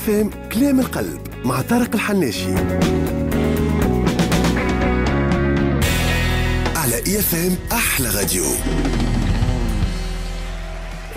IFM كلام القلب مع طارق الحناشي على IFM احلى راديو.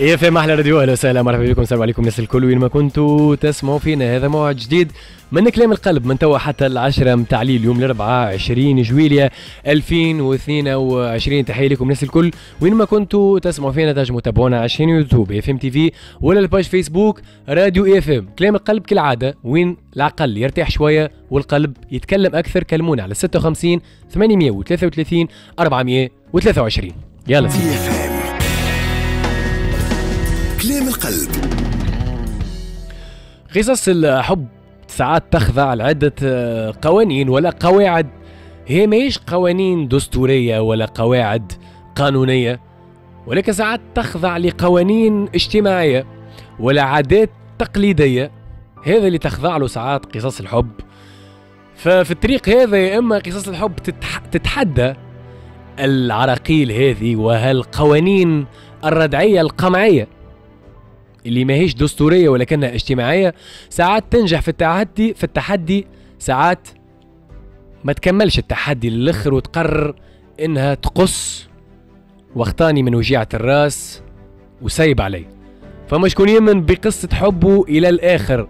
IFM احلى راديو، اهلا وسهلا، مرحبا بكم، السلام عليكم الناس الكل وين ما كنتوا تسمعوا فينا. هذا موعد جديد من كلام القلب من توا حتى 10 متاع الليل، يوم الاربعاء 20 جويلية 2022. تحية لكم الناس الكل وين ما كنتوا تسمعوا فينا، تنجموا تتابعونا على chaîne YouTube IFM TV ولا ال page Facebook راديو IFM. كلام القلب كالعادة وين العقل يرتاح شوية والقلب يتكلم اكثر. كلمونا على 56 833 423. يلا سيدي كلام القلب. قصص الحب ساعات تخضع لعدة قوانين ولا قواعد، هي ماهيش قوانين دستورية ولا قواعد قانونية، ولكن ساعات تخضع لقوانين اجتماعية ولا عادات تقليدية. هذا اللي تخضع له ساعات قصص الحب. ففي الطريق هذا يا إما قصص الحب تتحدى العراقيل هذه وهالقوانين الردعية القمعية اللي ماهيش دستورية ولكنها اجتماعية. ساعات تنجح في التحدي، ساعات ما تكملش التحدي للآخر وتقرر انها تقص واختاني من وجيعة الراس وسايب علي. فما شكون يمن بقصة حبه إلى الآخر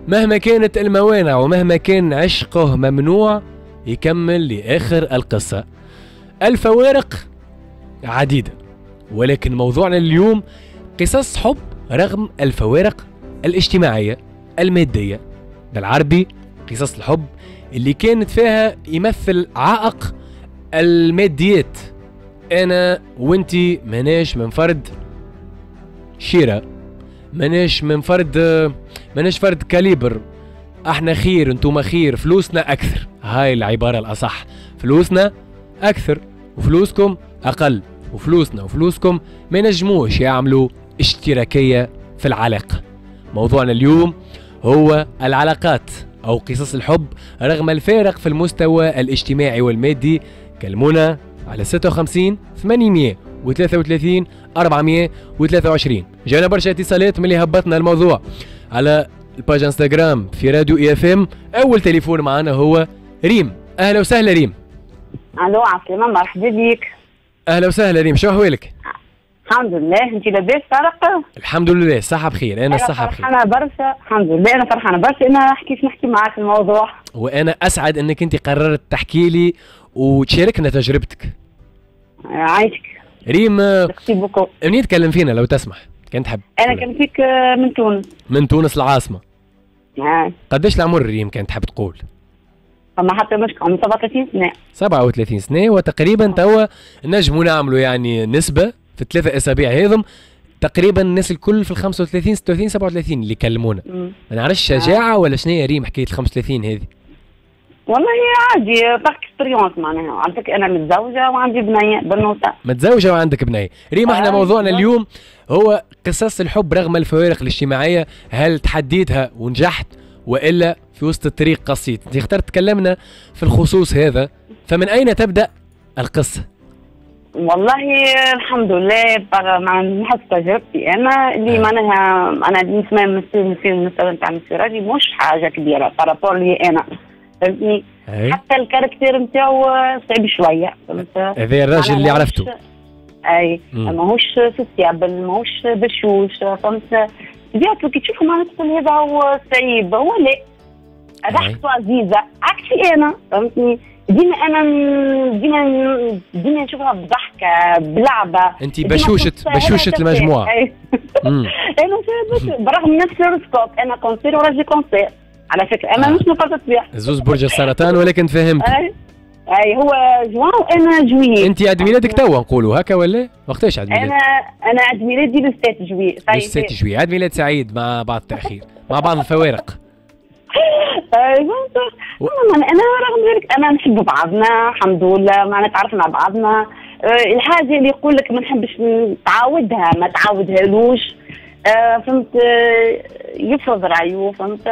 مهما كانت الموانع ومهما كان عشقه ممنوع، يكمل لآخر القصة. الفوارق عديدة، ولكن موضوعنا اليوم قصص حب رغم الفوارق الاجتماعية المادية. بالعربي قصص الحب اللي كانت فيها يمثل عائق الماديات. أنا وانتي ماناش من فرد شيرة، ماناش من فرد، ماناش فرد calibre، احنا خير انتوما خير، فلوسنا أكثر. هاي العبارة الأصح، فلوسنا أكثر وفلوسكم أقل، وفلوسنا وفلوسكم ما نجموش يعملوا اشتراكية في العلاقة. موضوعنا اليوم هو العلاقات أو قصص الحب رغم الفارق في المستوى الاجتماعي والمادي. كلمونا على 56 833 423. جانا برشا اتصالات من اللي هبطنا الموضوع على ال page انستغرام في راديو IFM. أول تليفون معنا هو ريم. أهلا وسهلا ريم. الو عسلامة، مرحبا بك. أهلا وسهلا ريم، شو أحوالك؟ الحمد لله، انت لاباس طارق؟ الحمد لله، الصحة بخير. أنا الصحة بخير. فرحانة برشا، الحمد لله، أنا فرحانة برشا أنا كيف نحكي معاك الموضوع. وأنا أسعد أنك أنت قررت تحكي لي وتشاركنا تجربتك. عايشك. ريم، merci beaucoup. منين تكلم فينا لو تسمح؟ كان تحب. أنا كان فيك من تونس. من تونس العاصمة. قداش العمر ريم كان تحب تقول؟ فما حتى مشكل، عمري 37 سنة. 37 سنة وتقريبا توا نجموا نعملوا يعني نسبة في الثلاثة أسابيع هذم تقريبا الناس الكل في ال 35 36 37 اللي كلمونا. ما نعرفش شجاعة ولا شنو هي ريم حكاية ال 35 هذه؟ والله عادي، par expérience معناها. عندك أنا متزوجة وعندي بنية بنوتة. متزوجة وعندك بنية. ريم احنا موضوعنا اليوم هو قصص الحب رغم الفوارق الاجتماعية، هل تحديتها ونجحت وإلا في وسط الطريق قصيت؟ انت اخترت تكلمنا في الخصوص هذا، فمن أين تبدأ القصة؟ والله الحمد لله مع حسب تجربتي انا اللي معناها انا بالنسبة للمستوى نتاع مسيو مش حاجة كبيرة par rapport لي انا، فهمتني؟ حتى ال caractère نتاعو صعيب شوية، فهمت؟ هذا الراجل اللي عرفته. اي ماهوش sociable، ماهوش بشوش، فهمت؟ طبيعته كي تشوفه معناها تقول هذا هو صعيب، هو لا، ضحكته عزيزه عكسي انا، فهمتني؟ ديما انا ديما نشوفها بضحكه بلعبه. انت بشوشة المجموعة. انا برغم نفس l'horoscope، انا cancer وراجلي cancer على فكرة، انا مش نقطة الطبيعة. زوز برج السرطان، ولكن فهمت. اي هو جوان وانا juillet. انت عيد ميلادك توا نقولوا هكا ولا وقتاش عيد ميلادك؟ انا عيد ميلادي le 7 juillet. 7 juillet، عيد ميلاد سعيد مع بعض التاخير، مع بعض الفوارق. انا رغم ذلك انا نحب بعضنا الحمد لله، معنا تعرفنا بعضنا. الحاجة اللي يقول لك ما نحبش تعاودها ما تعاودهالوش، فهمت؟ يفرض رايه، فهمت؟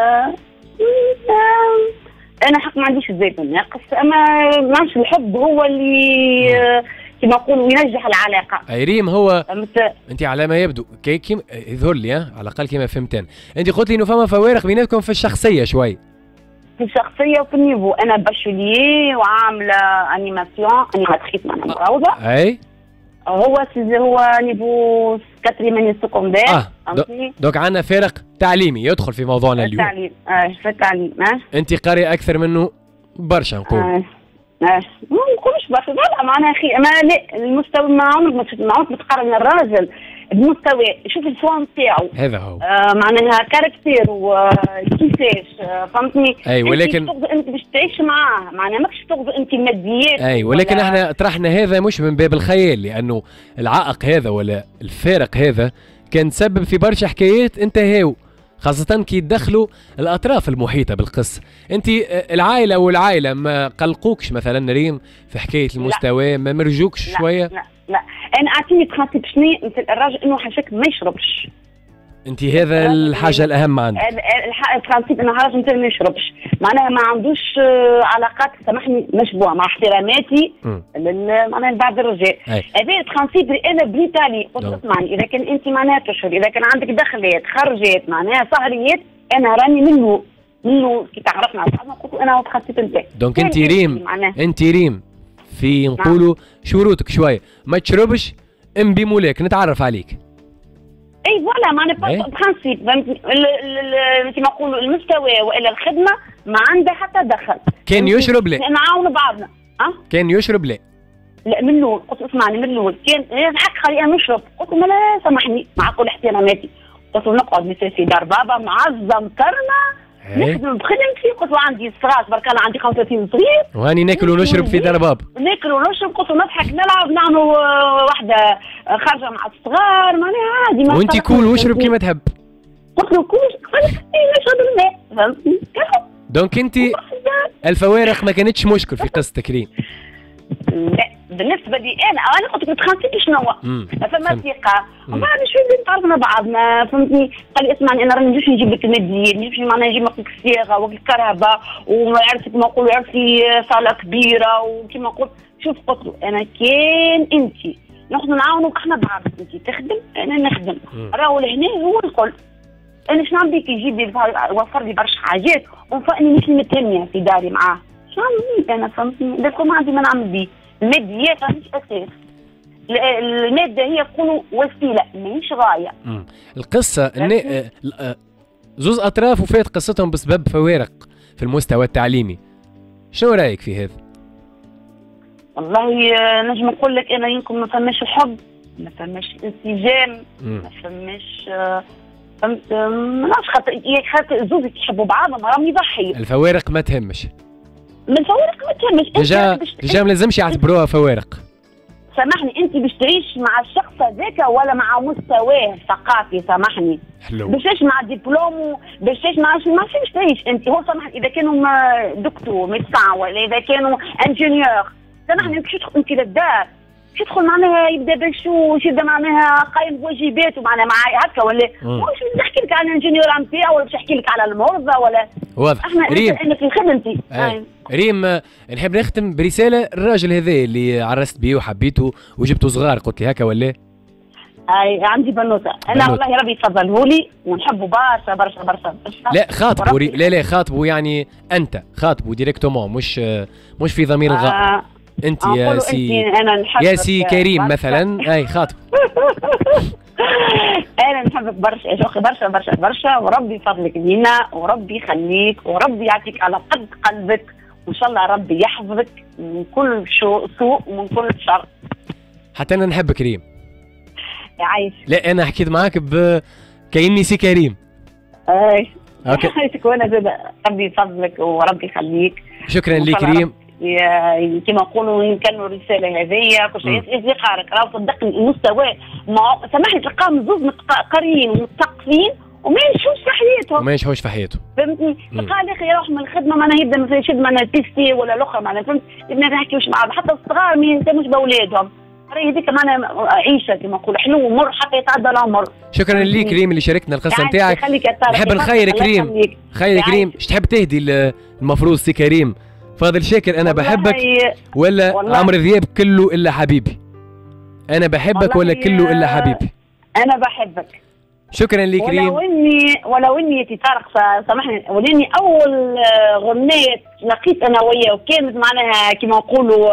انا حق ما عنديش الزيت الناقص، اما ما عندش الحب هو اللي كما نقولوا ينجح العلاقة. اي ريم، هو انت على ما يبدو كي يظهر لي على الاقل كما فهمت انا، انت قلت لي انه فما فوارق بيناتكم في الشخصية شوي. في الشخصية وفي ال niveau، انا bachelier وعامله animation، animatrice معناها مروضه. اي هو niveau quatrième année secondaire. donc عندنا فارق تعليمي يدخل في موضوعنا اليوم. التعليم، في التعليم. انت قارئه اكثر منه برشا نقول. ما نقولش برشا، لا معناها اخي ما لا المستوى ما عمرك ما تقارن الراجل بمستوى، شوف ال fond تاعو هذا هو معناها caractère وكيفاش، فهمتني؟ اي ولكن انت باش تعيش معاه معناها ماكش تغزو انت الماديات. اي ولكن احنا طرحنا هذا مش من باب الخيال، لانه العائق هذا ولا الفارق هذا كان سبب في برشا حكايات انتهاو، خاصة كي يدخلوا الأطراف المحيطة بالقصة. أنت العائلة والعائلة ما قلقوكش مثلا ريم في حكاية المستوى؟ ما مرجوكش شوية؟ لا لا، أنا أعطيني principe شنو مثل الراجل إنه حاشاك ما يشربش. أنت هذا الحاجة الأهم عندك. ال principe إنه الراجل مثلا ما يشربش، معناها ما عندوش علاقات سامحني مشبوهة مع احتراماتي معناها لبعض الرجال. هذا ال principe اللي أنا بنيت عليه. قلت اسمعني، إذا كان أنت معناها تشهر، إذا كان عندك دخلات خرجات معناها سهريات، أنا راني منه كي تعرفنا على بعضنا قلت أنا هو ال principe نتاعي. donc أنت ريم، أنت ريم في نقولوا شروطك شوية، ما تشربش امبي مولاك نتعرف عليك. اي voilà معناها principe، فهمتني؟ كيما نقولوا المستوى والا الخدمة ما عندها حتى دخل. كان يشرب لا؟ نعاونوا بعضنا. كان يشرب لا؟ لا من الاول قلت اسمعني، من الاول كان الحق خلي انا نشرب، قلت له لا سامحني مع كل احتراماتي، قلت له نقعد مثل في دار بابا معزة مكرمة نخدم بخدمتي، قلت له عندي صغار تبارك الله، عندي 35 صغير وهاني ناكل ونشرب في دار بابا، ناكل ونشرب، قلت له نضحك نلعب نعملوا واحدة خارجه مع الصغار معناها عادي. وانت كول واشرب كيما تحب. قلت له كول نشرب الماء، فهمتني؟ donc انت الفوارق ما كانتش مشكل في قصة ريم؟ لا بالنسبة لي انا قلت لك principe شنو هو؟ فما ثقة، ومن بعد شوية تعرفنا بعضنا، فهمتني؟ قال لي اسمعني انا راني نجيش نجيب لك الماديات، نجيش معناها نجيب لك الصياغة والكهرباء وعرفت كيما نقولوا عرفتي صاله كبيرة وكيما نقول. شوف قلت له انا كان انت ناخذ نعاونوا احنا بعض، انت تخدم انا نخدم، راهو لهنا هو الكل. انا شنو نعمل بك؟ يجيب لي وفر لي برشا حاجات وفاني مش متهنيه في داري معاه، شنو نعمل بيه انا؟ فهمتني؟ ما عندي ما نعمل بيه. الماديات مش اساس، المادة هي تكون وسيلة ماهيش غاية. القصة ان زوز اطراف وفات قصتهم بسبب فوارق في المستوى التعليمي، شنو رايك في هذا؟ والله نجم نقول لك انا يمكن ما فماش الحب، ما فماش انسجام، ما فماش فهمت، ما نعرفش، خاطر زوز يحبوا بعضهم راهم يضحيوا. الفوارق ما تهمش. من الفوارق ما تهمش. déjà ما لازمش يعتبروها فوارق. سامحني انت باش تعيش مع الشخص هذاك ولا مع مستواه الثقافي، سامحني حلو، باش تعيش مع دبلوم، باش تعيش مع ما باش تعيش انت هو سامحني اذا كانوا docteur médecin ولا اذا كانوا ingénieur، سامحني باش تدخل انت للدار باش تدخل معناها يبدا بشوش، يبدا معناها قايم بواجباته معناها مع هكا ولا مش نحكي لك على ال ingénieur نتاعو ولا باش نحكي لك على المرضى ولا واضح. احنا ريم انا في خدمتي. ريم نحب نختم برسالة الراجل هذا اللي عرست بيه وحبيته وجبته صغار، قلت لي هكا ولا؟ اي عندي بنوته انا والله ربي يفضله لي ونحبه برشا برشا برشا. لا خاطبه، لا لا خاطبه، يعني انت خاطبه directement، مش في ضمير الغائب. انت يا سي يا سي كريم مثلا، اي خاطب. انا نحبك برشا يا شوقي، برشا برشا برشا، وربي يفضلك لينا وربي يخليك وربي يعطيك على قد قلبك، وان شاء الله ربي يحفظك من كل سوء ومن كل شر. حتى انا نحبك ريم. يعيش. لا انا حكيت معاك كأني سي كريم. اي okay. عايشك وانا زاد ربي يفضلك وربي يخليك. شكرا لك ريم. كما نقولوا نكملوا الرسالة هذيا كل شيء اصدقائك راهو صدقني المستوى ما سامحني تلقاهم زوز قاريين ومتثقفين وما ينجحوش في حياتهم. وما ينجحوش في حياتهم. فهمتني؟ تلقاه الاخر يروح من الخدمة معناها يبدا مثلا يشد معناها PC ولا الاخر معناها فهمت؟ ما نحكيوش مع بعض، حتى الصغار ما يهتموش باولادهم. راهي هذيك معناها عيشه كما نقولوا حلو ومر حتى يتعدى العمر. شكرا ليك ريم اللي شاركتنا القصة نتاعك. نحب نخيرك ريم، خيرك ريم، اش تحب تهدي المفروض سي كريم؟ فاضل شاكر انا بحبك ولا عمرو ذياب كله الا حبيبي؟ انا بحبك ولا كله الا حبيبي؟ انا بحبك. شكرا لك ريم. ولو اني طارق سامحني، ولاني اول غنية لقيت انا وياه وكانت معناها كما نقولوا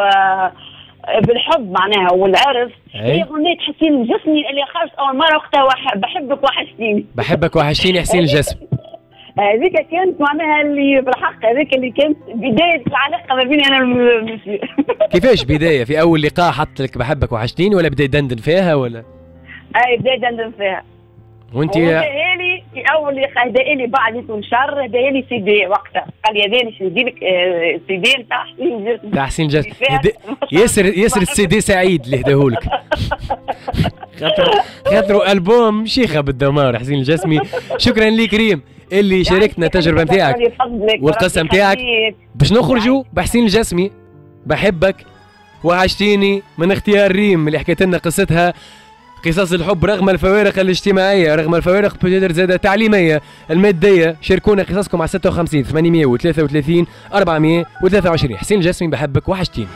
بالحب معناها والعرس، هي غنية حسين الجسمي اللي خرجت اول مرة وقتها، بحبك وحشتيني. بحبك وحشتيني حسين الجسمي. هذيك كانت معناها اللي بالحق هذيك اللي كانت بداية العلاقة ما بيني انا والمسيو. كيفاش بداية؟ في اول لقاء حط لك بحبك وحشتيني ولا بدا يدندن فيها ولا؟ اي بدا يدندن فيها. وانت هداها لي في اول لقاء، هداها لي بعد يكون شهر، هداها لي سي دي وقتها، قال لي هذا نشري لك سي دي نتاع حسين الجسمي. تاع حسين الجسمي. ياسر السي دي سعيد اللي هداهولك. خاطروا البوم شيخه بالدمار حسين الجسمي. شكرا لك ريم اللي شاركتنا التجربة نتاعك والقصه نتاعك. باش نخرجوا بحسين الجسمي بحبك وحشتيني من اختيار ريم اللي حكيت لنا قصتها، قصص الحب رغم الفوارق الاجتماعية، رغم الفوارق peut-être زادة التعليمية المادية. شاركونا قصصكم على 56 833 423. حسين الجسمي بحبك وحشتيني.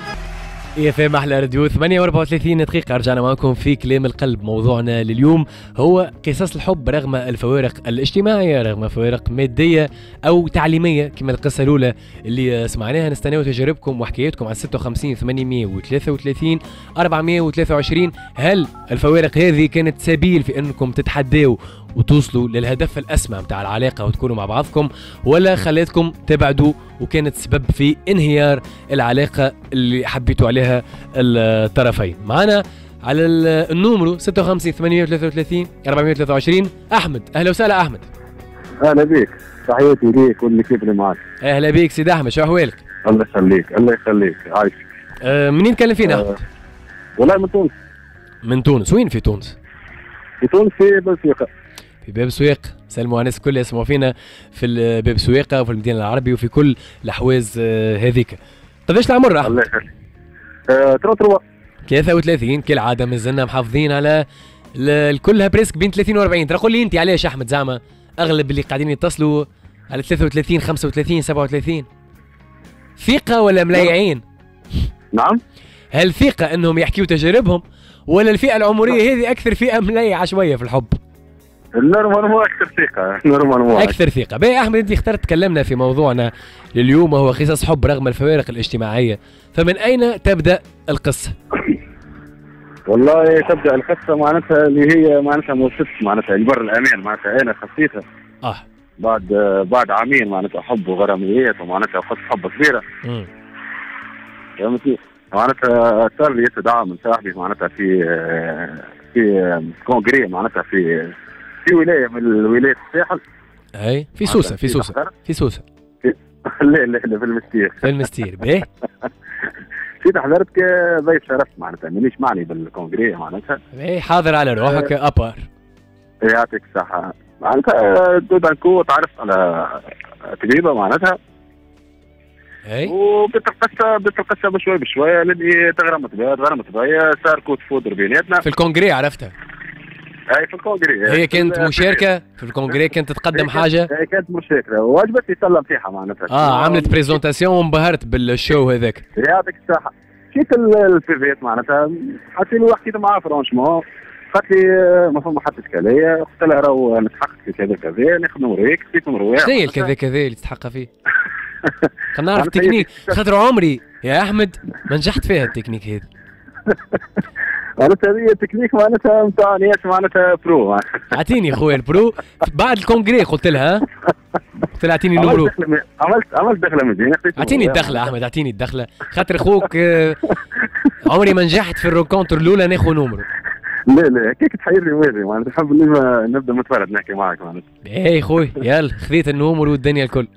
IFM احلى راديو 8:34 دقيقة، رجعنا معكم في كلام القلب. موضوعنا لليوم هو قصص الحب رغم الفوارق الاجتماعية، رغم فوارق مادية أو تعليمية كما القصة الأولى اللي سمعناها. نستناو تجاربكم وحكاياتكم على 56 833 423. هل الفوارق هذه كانت سبيل في أنكم تتحداوا وتوصلوا للهدف الأسمى متاع العلاقة وتكونوا مع بعضكم، ولا خلتكم تبعدوا وكانت سبب في انهيار العلاقة اللي حبيتوا عليها الطرفين؟ معنا على ال numéro 56 833 423 أحمد. أهلا وسهلا أحمد. أهلا بيك، تحياتي ليك وال équipe اللي معاك. أهلا بيك سيد أحمد، شو أحوالك؟ الله يخليك. الله يخليك، عايشك. منين تكلم فينا أحمد؟ والله من تونس. من تونس، وين في تونس؟ في تونس في باب سويقة. في باب سويقة. سلموا على الناس الكل يسمعوا فينا في باب سويقة وفي المدينة العربية وفي كل الأحواز هذيك. قداش العمر أحمد؟ الله يخليك. 33. 33 كالعادة مازلنا محافظين على الكلها presque بين 30 و40. ترى قول لي أنت علاش أحمد زعما أغلب اللي قاعدين يتصلوا على 33 35 37؟ ثقة ولا ملايعين؟ نعم. هل ثقة أنهم يحكيوا تجاربهم ولا الفئة العمرية هذه أكثر فئة ملايعة شوية في الحب؟ normalement اكثر ثقة، normalement اكثر ثقة. باهي احمد، انت اخترت تكلمنا في موضوعنا لليوم وهو قصص حب رغم الفوارق الاجتماعية، فمن اين تبدا القصة؟ والله تبدا القصة معناتها اللي هي معناتها موسس معناتها البر الامان، معناتها انا خصيتها بعد عامين معناتها حب وغراميات ومعناتها قصة حب كبيرة. فهمتني؟ معناتها صار لي استدعاء من صاحبي معناتها في congrès معناتها في ولاية من الولايات الساحل. اي في سوسة. في سوسة. في سوسة. لا لا لا، في المستير. في المستير. باهي. جيت حضرت كضيف شرف معناتها، مانيش معني بال congrès معناتها. باهي، حاضر على روحك à part. يعطيك الصحة. معناتها tout d'un coup تعرفت على طبيبه معناتها. اي. وبدت القصة، بدت القصة بشوي بشوية لاني تغرمت بها، صار coup de foudre بيناتنا. في ال congrès عرفتها؟ اي في ال congrès. هي كانت مشاركة في ال congrès، كانت تقدم حاجة؟ هي كانت مشاركة وعجبتني تسلم فيها معناتها. عملت présentation وانبهرت بال show هذاك. يعطيك الصحة. مشيت ال buvette معناتها، حطيت له حكيت معاه franchement، قالت لي ما فما حتى اشكالية، قلت لها راهو نتحقق في كذا كذا، ناخذ نوريك، خذيت نوريك. شنو هي الكذا كذا اللي تتحقق فيه؟ خلينا نعرف التكنيك، خاطر عمري يا احمد ما نجحت فيها التكنيك هذا. معناتها هذه التكنيك معناتها نتاع ناس معناتها pro. اعطيني خويا ال pro بعد ال congrès. قلت لها اعطيني numéro. عملت دخله مزيانه. اعطيني الدخلة احمد، اعطيني الدخلة خاطر خوك عمري ما نجحت في ال rencontre الاولى ناخذ numéro. لا لا هكاك تحيرني واجي معناتها، نحب نبدا متفرد نحكي معك معناتها. اي خويا يلا خذيت ال numéro والدنيا الكل.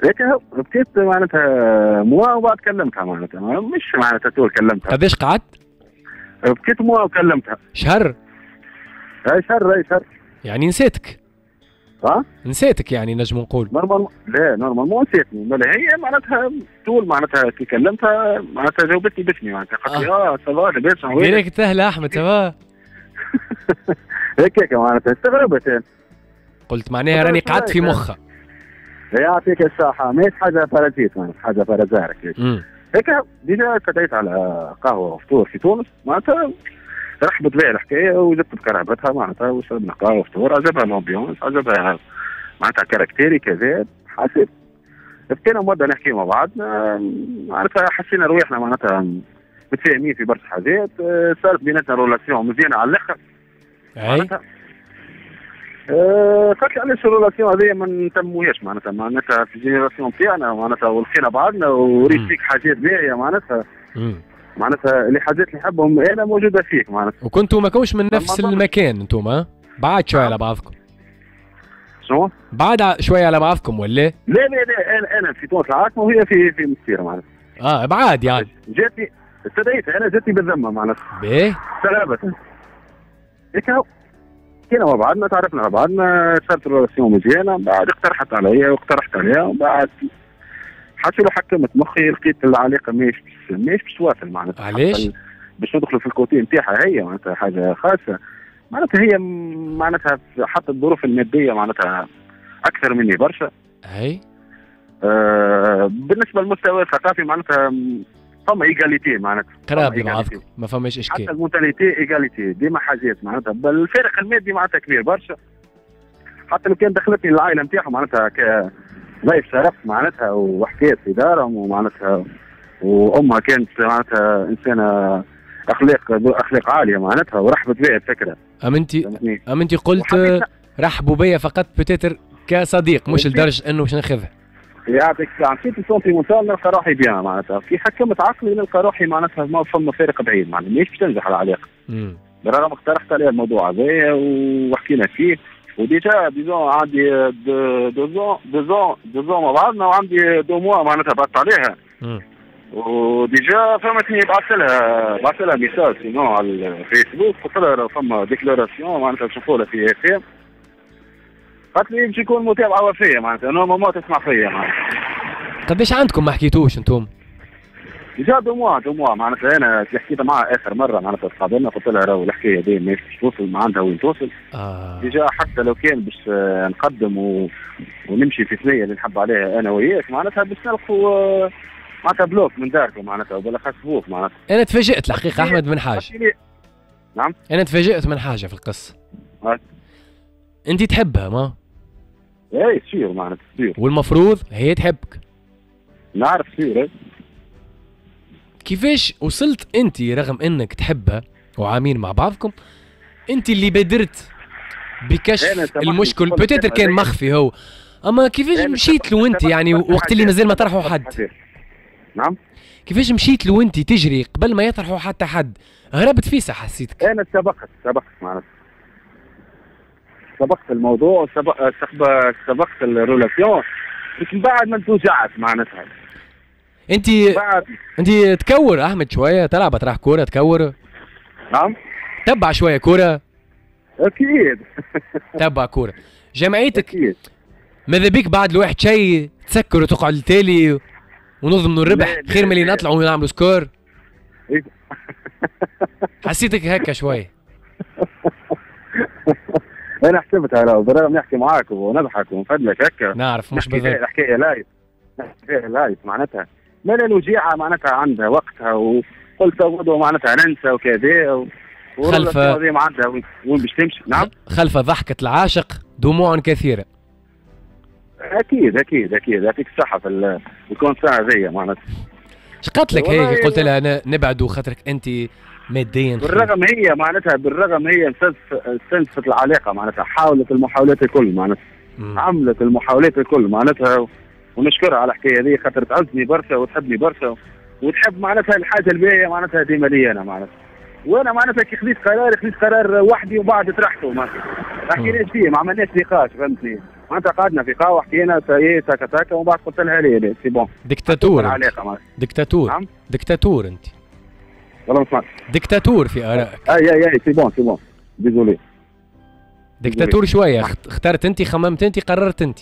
هيك بقيت معناتها mois وبعد كلمتها معناتها، مش معناتها طول كلمتها. قداش قعدت؟ بقيت mois وكلمتها. شهر؟ اي شهر، اي شهر. يعني نسيتك؟ ها؟ نسيتك يعني نجم نقول. normal لا normalement نسيتني، بل هي معناتها طول معناتها كي كلمتها معناتها جاوبتني باسمي معناتها، قالت لي ça va لاباس. direct اهلا احمد ça va. هكاك معناتها استغربت. قلت معناها راني قعدت في مخها. يعطيك الصحة، ماهيش حاجة parasite معناتها، حاجة par hasard. هيك déjà استدعيت على قهوة وفطور في تونس معناتها. رحبت بها الحكاية وجبت بكرهبتها معناتها وشربنا قهوة وفطور، عجبها l'ambiance، عجبها معناتها caractère ي كذا. حسيت بقينا مده نحكي مع بعضنا معناتها، حسينا رواحنا معناتها متفاهمين في برشا حاجات، صارت بيناتنا relation مزيانه على الاخر. معناتها قالت لي علاش ال relation هذه ما نتموهاش معناتها في ال génération تاعنا معناتها، ولقينا بعضنا وريت فيك حاجات باهيه معناتها معناتها اللي حاجات اللي نحبهم انا موجودة فيك معناتها. وكنتوا ما كوش من نفس المكان انتم؟ بعد شوية على بعضكم. شنو؟ بعد شوية على بعضكم ولا؟ لا لا لا، انا في تونس العاصمة وهي في مسيره معناتها. بعاد يعني. جاتني استدعيتها انا، جاتني بالذمه معناتها. باهي. سلامة. هيك كنا مع بعضنا، تعرفنا على بعضنا، صارت relation مزيانه، بعد اقترحت عليا واقترحت عليها، وبعد حتى لو حكمت مخي لقيت العلاقة ماهيش باش تواصل معناتها. علاش؟ باش ندخلوا في ال côté نتاعها هي معناتها حاجة خاصة معناتها، هي معناتها حتى الظروف المادية معناتها اكثر مني برشا. اي بالنسبة للمستوى الثقافي معناتها فما égalité معناتها، قراب لبعضكم ما فماش اشكال. حتى ال mentalité égalité ديما حاجات معناتها، بل الفارق المادي معناتها كبير برشا. حتى لو كان دخلتني العائلة نتاعهم معناتها ضيف شرف معناتها، وحكيت في دارهم ومعناتها، وامها كانت معناتها انسانه اخلاق عالية معناتها، ورحبت بها الفكرة. ام انت قلت رحبوا بيا فقط peut-être كصديق، مش لدرجة انه باش ناخذها. يعطيك الصحة. مشيت ال sentimental نلقى روحي bien معناتها، كي حكمت عقلي نلقى روحي معناتها ما فما فارق بعيد معناتها، ماهيش باش تنجح العلاقة. بالرغم اقترحت عليها الموضوع هذايا وحكينا فيه، و déjà disons عندي deux ans مع بعضنا، وعندي 2 mois معناتها بعثت عليها. و déjà فهمتني، بعثت لها message sinon على الفيسبوك، قلت لها فما déclaration معناتها تشوفوا لها في FM. قالت لي باش يكون متابعه وفيه معناتها، normalement تسمع فيا معناتها. قداش عندكم ما حكيتوش انتم؟ déjà 2 mois معناتها. انا كي حكيت معها اخر مرة معناتها تقابلنا، قلت لها راهو الحكاية دي ماهيش باش توصل، ما عندها وين توصل. déjà حتى لو كان باش نقدم ونمشي في ثنيه اللي نحب عليها انا وياك معناتها، باش نلقوا معناتها bloc من داركم معناتها، وبالاخص بوك معناتها. انا تفاجئت الحقيقة احمد من حاجة. نعم؟ انا تفاجئت من حاجة في القصة. انت تحبها ما؟ اي sûr معناتها sûr. والمفروض هي تحبك. نعرف sûr. كيفاش وصلت انت رغم انك تحبها وعامين مع بعضكم، انت اللي بادرت بكشف المشكل، peut-être كان مخفي هو، اما كيفاش مشيت له انت يعني وقت اللي مازال ما طرحوا حد؟ نعم؟ كيفاش مشيت له انت تجري قبل ما يطرحوا حتى حد؟ هربت فيسا حسيتك. انا سبقت معناتها، سبقت الموضوع، سبقت ال relation، بس من بعد ما توجعت معناتها. انت تكور احمد شوية، تلعب تروح كورة تكور؟ نعم؟ تبع شوية كورة؟ اكيد. تبع كورة جمعيتك. أكيد. ماذا بيك بعد الواحد شيء تسكر وتقعد لتالي ونضمنوا الربح خير من اللي نطلعوا ونعملوا score؟ حسيتك هكا شوية. انا حسبتها راهو، بالرغم نحكي معاك ونضحك ونفدلك هكا. نعرف مش بالضبط. الحكاية live، نحكي live معناتها، مالا الوجيعه معناتها عندها وقتها، وقلت غدوه معناتها ننسى وكذا خلف معناتها وين باش تمشي. نعم؟ خلف ضحكه العاشق دموع كثيرة. اكيد اكيد اكيد، يعطيك الصحة في ال constat هذيا معناتها. اش قالت لك هي؟ قلت لها انا نبعدوا خاطرك انت ماديا. بالرغم هي معناتها، بالرغم هي استنزفت العلاقة معناتها، حاولت المحاولات الكل معناتها، عملت المحاولات الكل معناتها، ونشكرها على الحكاية هذه خاطر تعزني برشا وتحبني برشا، وتحب معناتها الحاجة الباهيه معناتها ديما لي انا معناتها. وانا معناتها كي خذيت قرار، خذيت قرار وحدي وبعد طرحته معناتها، ما حكيناش فيه، ما عملناش نقاش فهمتني معناتها، قعدنا في قهوة حكينا تاكا تاكا، ومن بعد قلت لها لا c'est bon. ديكتاتور. ديكتاتور. نعم؟ ديكتاتور انت. والله ما سمعت. ديكتاتور في ارائك. اي اي اي c'est bon c'est bon désolé. ديكتاتور شوية، اخترت انت، خممت انت، قررت انت.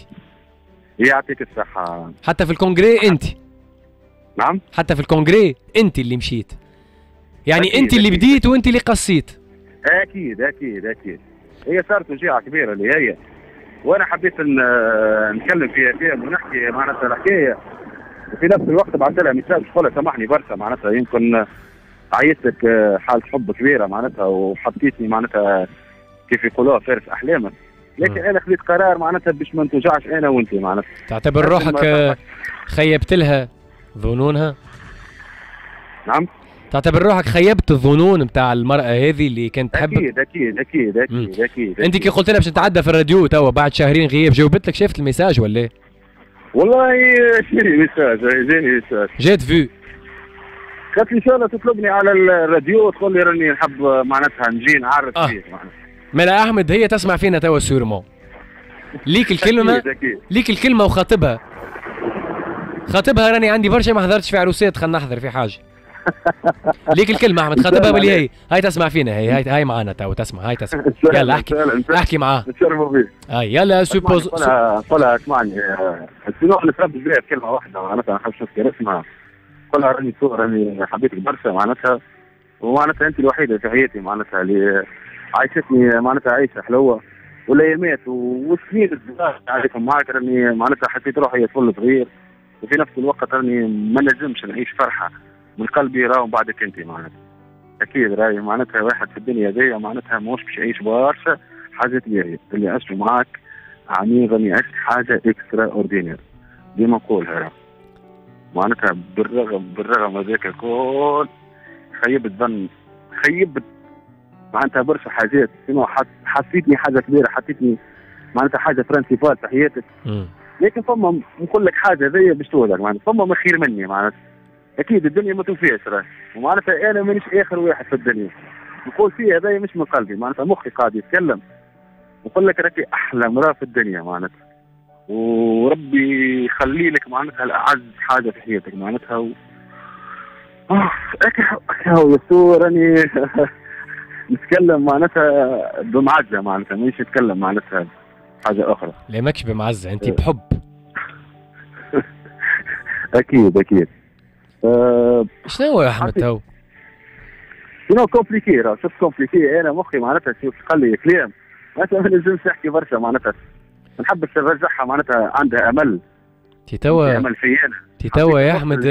يعطيك الصحة. حتى في ال congrès انت. نعم؟ حتى في ال congrès انت اللي مشيت. يعني انت اللي بديت وانت اللي قصيت. اكيد اكيد اكيد. هي صارت وجيعه كبيرة اللي هي، وانا حبيت نتكلم فيها ونحكي معناتها الحكاية، وفي نفس الوقت بعثت لها message تقول لها سامحني برشا معناتها، يمكن عيشت لك حاله حب كبيرة معناتها، وحطيتني معناتها كيف يقولوها فارس احلامك، لكن انا خذيت قرار معناتها باش ما نتوجعش انا وانت معناتها. تعتبر روحك خيبت لها ظنونها؟ نعم، تعتبر روحك خيبت الظنون نتاع المرأة هذه اللي كانت تحبك؟ اكيد اكيد اكيد اكيد اكيد. انت كي قلت لها باش نتعدى في الراديو توا بعد شهرين غياب، جاوبت لك؟ شافت ال message ولا؟ والله جاني message، جاني message، جات vu، قالت لي ان شاء الله تطلبني على الراديو وتقول لي راني نحب معناتها نجي نعرف فيك معناتها. مالا احمد هي تسمع فينا توا sûrement. ليك الكلمة، ليك الكلمة وخاطبها. خاطبها راني عندي برشا ما حضرتش في عروسات، خلينا نحضر في حاجة. ليك الكلمة احمد، خاطبها باللي هي هاي تسمع فينا، هي هاي معانا تو تسمع، هاي تسمع. يلا احكي احكي معاه. نتشرفوا فيك. هاي يلا suppose قولها اسمعني، sinon نتربي بها كلمة واحدة معناتها، ما نحبش نذكر اسمها. قولها راني راني حبيتك برشا معناتها، ومعناتها انت الوحيدة في حياتي معناتها اللي عايشتني معناتها عيشه حلوة والايامات والسنين الصغار عايشهم معاك، راني معناتها حسيت روحي طفل صغير، وفي نفس الوقت راني ما نجمش نعيش فرحه من قلبي راهو بعدك انت معناتها. اكيد راهي معناتها واحد في الدنيا ذي معناتها ماهوش باش يعيش برشا حاجات باهيه، اللي عشته معاك عميق راني عشت حاجة extraordinaire ديما نقولها راه معناتها، بالرغم هذاك الكل خيبت ظن، خيبت معناتها برشا حاجات، حسيتني حاجة كبيرة، حسيتني معناتها حاجة principale في حياتك. لكن فما نقول لك حاجة ذي باش تولك معناتها، فما ما خير مني معناتها، اكيد الدنيا ما توفيش راه، ومعناتها انا مانيش اخر واحد في الدنيا نقول فيه هذايا مش من قلبي معناتها، مخي قاعد يتكلم نقول لك راكي احلى مراة في الدنيا معناتها، وربي يخلي لك معناتها الاعز حاجة في حياتك معناتها. هو يسوع راني نتكلم معناتها بمعزه معناتها، مانيش نتكلم معناتها حاجة اخرى. لا ماكش بمعزه، انت بحب. اكيد اكيد. شنو هو يا احمد تو؟ شنو compliqué راه، شوف compliqué، انا مخي معناتها شوف قال لي كلام معناتها ما نجمش نحكي برشا معناتها، ما نحبش نرجعها معناتها عندها امل. تي توا امل في انا، تي توا يا احمد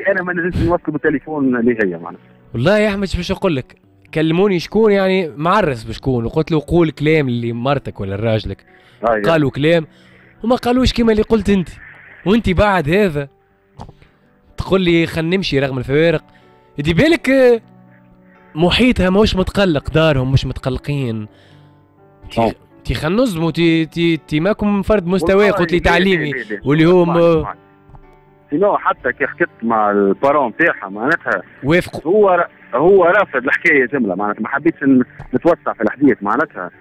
انا ما نجمش نوصل بالتليفون اللي هي معناتها. والله يا احمد باش نقول لك، كلموني شكون يعني معرس بشكون، وقلت له قول كلام اللي مرتك ولا راجلك. قالوا كلام وما قالوش كيما اللي قلت انت، وانت بعد هذا تقول لي خلينا نمشي رغم الفوارق. دي بالك محيطها ماهوش متقلق، دارهم مش متقلقين. تي خلينا نظموا، تي تي تي ماكم فرد مستوى. قلت لي تعليمي واللي هو sinon حتى كي حكيت مع ال parents تاعها معناتها وافقوا. هو رافض الحكاية جملة معناتها، ما حبيتش نتوسع في الحديث معناتها.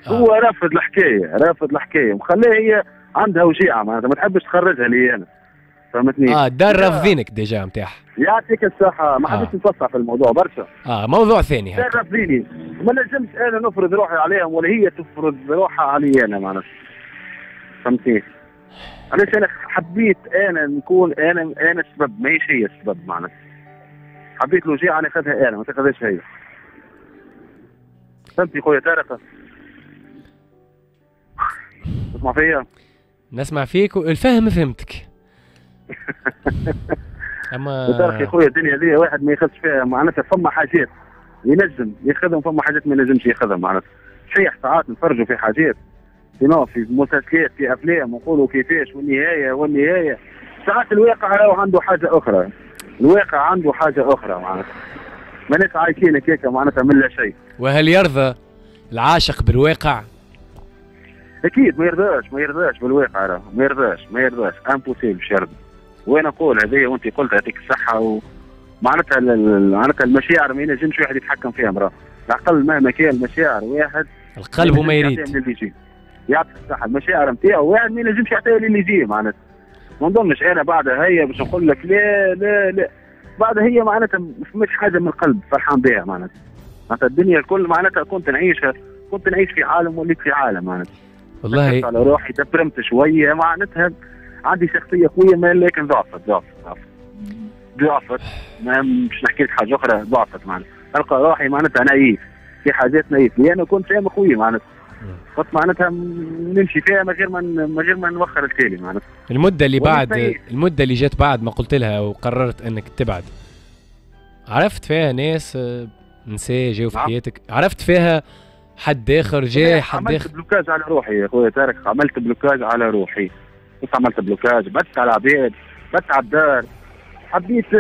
هو رافض الحكاية، رافض الحكاية وخليها هي عندها وجيعه معناتها، ما تحبش تخرجها لي انا، فهمتني؟ دار رافضينك déjà نتاعها. يعطيك الصحة، ما حبيتش نتوسع في الموضوع برشا. موضوع ثاني. دار رافضيني، ما نجمش انا نفرض روحي عليهم ولا هي تفرض روحها علي انا معناتها، فهمتني؟ علاش انا حبيت انا نكون انا السبب، ماهيش هي السبب معناتها. حبيت الوجيعه ناخذها انا ما تاخذهاش هي. فهمتي خويا طارق؟ تسمع فيا؟ نسمع فيك والفهم فهمتك. اما طارق يا خويا الدنيا ذي واحد ما ياخذش فيها معناتها، فما حاجات ينجم ياخذهم، فما حاجات ما ينجمش ياخذهم معناتها. صحيح ساعات نتفرجوا في حاجات sinon في مسلسلات في افلام ونقولوا كيفاش والنهاية والنهاية، ساعات الواقع راهو عنده حاجة اخرى، الواقع عنده حاجة اخرى معناتها، ماناش عايشين هكاك معناتها من لا شيء. وهل يرضى العاشق بالواقع؟ اكيد ما يرضاش، ما يرضاش بالواقع راه، ما يرضاش، ما يرضاش، impossible باش يرضى. وانا نقول هذه وانت قلت يعطيك الصحة، ومعناتها معناتها المشاعر ما ينجمش واحد يتحكم فيها راه، العقل مهما كان المشاعر واحد القلب وما يريد. يعطيك الصحة، المشاعر نتاعو واحد ما ينجمش يعطيها للي يجي معناتها. ما نظنش انا بعدها هي باش نقول لك لا لا لا، بعدها هي معناتها مش حاجة من القلب فرحان بها معناتها. معناتها الدنيا الكل معناتها كنت نعيشها، كنت نعيش في عالم وليت في عالم معناتها. والله على روحي تبرمت شوية معناتها، عندي شخصية قوية ما لكن ضعفت ضعفت ضعفت ضعفت، ما مش نحكي لك حاجة اخرى، ضعفت معناتها. نلقى روحي معناتها naïf في حاجات naïf، لأنه كنت فاهم قوي معناتها، كنت معناتها نمشي فيها من غير ما نوخر التالي معناتها. المدة اللي بعد، المدة اللي جات بعد ما قلت لها وقررت انك تبعد، عرفت فيها ناس نساء جاوا في حياتك؟ عرفت فيها حد اخر جاي؟ حد عملت blocage على روحي يا خويا طارق، عملت blocage على روحي، عملت blocage، بس على العباد، بس على الدار. حبيت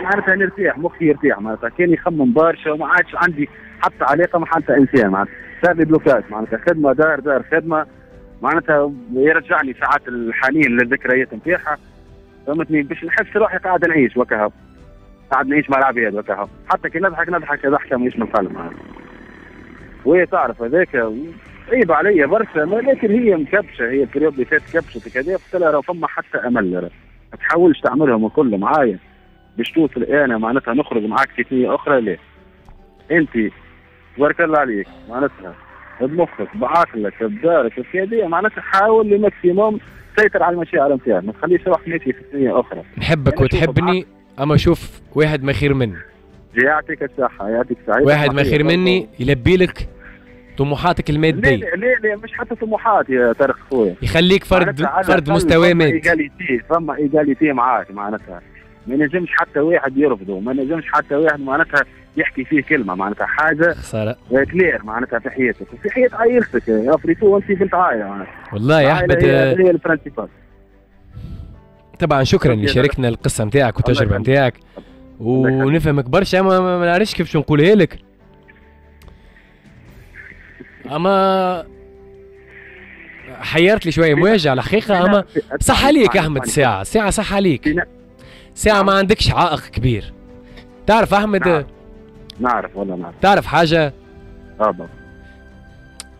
معناتها نرتاح، مخي يرتاح معناتها، كان يخمم برشا وما عادش عندي حتى علاقة مع حتى انسان معناتها، صار لي blocage معناتها، خدمة دار دار خدمة معناتها، يرجعني ساعات الحنين للذكريات نتاعها، فهمتني؟ باش نحس روحي قاعد نعيش وكهو، قاعد نعيش مع العباد وكهو، حتى كي نضحك نضحك ضحكه ماهيش من القلب معناتها. وهي تعرف هذاك عيب عليا برشا، لكن هي مكبشه، هي ال période اللي فات كبشت كذا، قلت لها راه فما حتى امل، ما تحاولش تعملهم الكل معايا باش توصل انا معناتها نخرج معاك في ثنيه اخرى، لا انت تبارك الله عليك معناتها بمخك بعقلك بدارك بكذا معناتها، حاول le maximum سيطر على المشاعر نتاعك، ما تخليش روحك ماشي في ثنيه اخرى. نحبك وتحبني، اما شوف واحد ما خير مني. يعطيك الصحة، يعطيك الصحة. واحد ما خير مني يلبي لك طموحاتك المادية. لا لا لا مش حتى طموحات يا طارق خويا، يخليك فرد مستوى مادي. فما égalité معاك معناتها، ما نجمش حتى واحد يرفضه، ما نجمش حتى واحد معناتها يحكي فيه كلمة معناتها، حاجة خسارة claire معناتها في حياتك وفي حياة عائلتك يا فريتو، وانت بنت عائلة معناتها. والله يا احمد هي ال principal. طبعا شكرا اللي شاركنا القصة نتاعك والتجربة نتاعك، ونفهمك برشا، ما نعرفش كيفاش نقولها لك، اما حيرت لي شوية مواجع على الحقيقة. اما صح عليك احمد، ساعة صح عليك، ساعة ما عندكش عائق كبير. تعرف احمد؟ نعرف والله نعرف. تعرف حاجة؟ بابا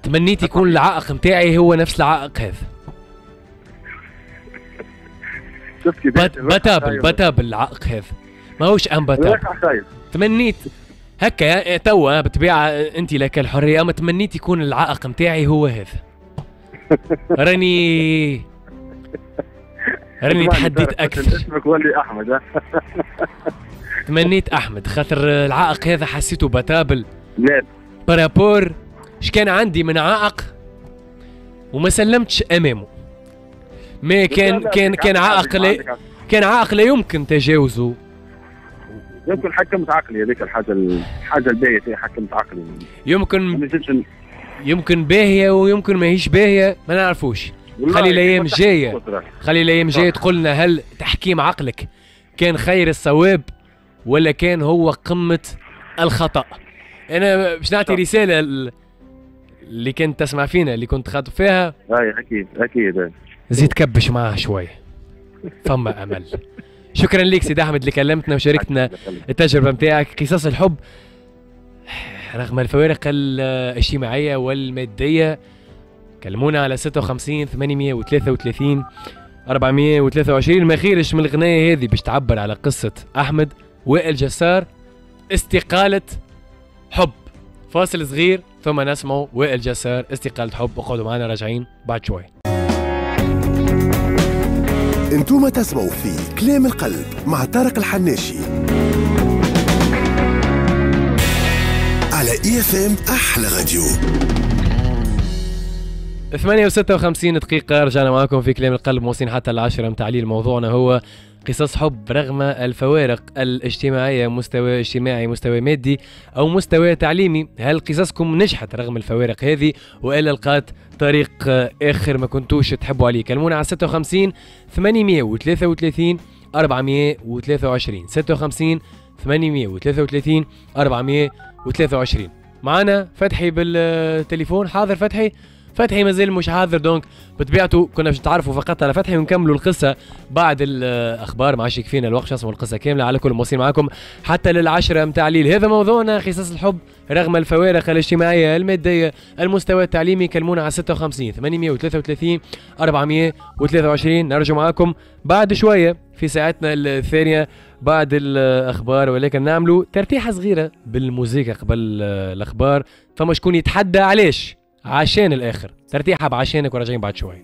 تمنيت يكون العائق نتاعي هو نفس العائق هذا. battable العائق هذا، ماهوش imbattable. تمنيت هكا توا بالطبيعة انت لك الحرية، اما تمنيت يكون العائق نتاعي هو هذا. راني تحديت اكثر. اسمك ولي احمد. تمنيت احمد خاطر العائق هذا حسيته battable. لا par rapport اش كان عندي من عائق وما سلمتش امامه. ما كان كان كان عائق لا، كان عائق لا يمكن تجاوزه. يمكن حكمت عقلي هذيك الحاجة الباهيه فيها، حكمت عقلي. يمكن باهيه ويمكن ماهيش باهيه، ما نعرفوش. خلي الايام الجاية، خلي الايام الجاية تقول لنا هل تحكيم عقلك كان خير الصواب ولا كان هو قمة الخطا. انا باش نعطي رسالة اللي كنت تسمع فينا، اللي كنت خاطب فيها. اي اكيد اكيد، زيد كبش معاه شوية، فما امل. شكرا لك سيد احمد اللي كلمتنا وشاركتنا التجربة نتاعك. قصص الحب رغم الفوارق الاجتماعية والمادية. كلمونا على 56 833 423. ما خيرش من الغنايه هذه باش تعبر على قصة احمد وائل جسار، استقالة حب. فاصل صغير ثم نسمع وائل جسار استقالة حب. اقعدوا معنا، راجعين بعد شوي. انتم تسمعوا في كلام القلب مع طارق الحناشي على IFM احلى راديو. 8:56 دقيقة، رجعنا معكم في كلام القلب، موصلين حتى 10 متاع الليل. موضوعنا هو قصص حب رغم الفوارق الاجتماعية، مستوى اجتماعي، مستوى مادي، أو مستوى تعليمي. هل قصصكم نجحت رغم الفوارق هذه وإلا لقات طريق آخر ما كنتوش تحبوا عليه؟ كلمونا على 56 833 423، 56 833 423. معنا فتحي بالتليفون. حاضر فتحي؟ فتحي مازال مش حاضر، donc بطبيعته كنا باش نتعرفوا فقط على فتحي ونكملوا القصة بعد الاخبار، ما عادش يكفينا الوقت نسمعوا القصة كاملة. على كل موصلين معاكم حتى للعشرة متاع الليل. هذا موضوعنا، قصص الحب رغم الفوارق الاجتماعية المادية المستوى التعليمي. كلمونا على 56 833 423. نرجع معاكم بعد شوية في ساعتنا الثانية بعد الاخبار، ولكن نعملوا ترتيحه صغيرة بالموسيقى قبل الاخبار. فما شكون يتحدى علاش عشان الاخر، ترتيحه بعشانك، وراجعين بعد شوي.